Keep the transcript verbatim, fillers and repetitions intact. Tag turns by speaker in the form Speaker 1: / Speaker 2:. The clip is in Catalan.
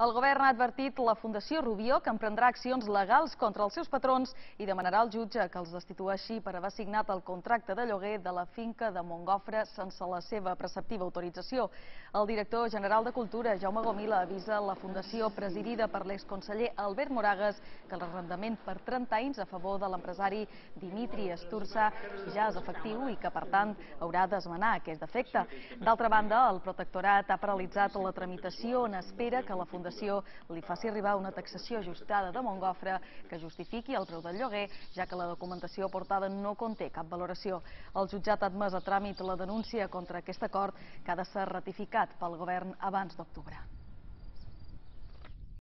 Speaker 1: El govern ha advertit la Fundació Rubió que emprendrà accions legals contra els seus patrons i demanarà al jutge que els destitueixi per haver signat el contracte de lloguer de la finca de Montgofre sense la seva preceptiva autorització. El director general de Cultura, Jaume Gomila, avisa la Fundació presidida per l'exconseller Albert Moragues que l'arrendament per trenta anys a favor de l'empresari Dimitri Esturza ja és efectiu i que, per tant, haurà d'esmenar aquest defecte. D'altra banda, el protectorat ha paralitzat la tramitació en espera que la Fundació li faci arribar una taxació ajustada de Montgofre que justifiqui el preu del lloguer, ja que la documentació aportada no conté cap valoració. El jutjat ha admès a tràmit la denúncia contra aquest acord que ha de ser ratificat pel govern abans d'octubre.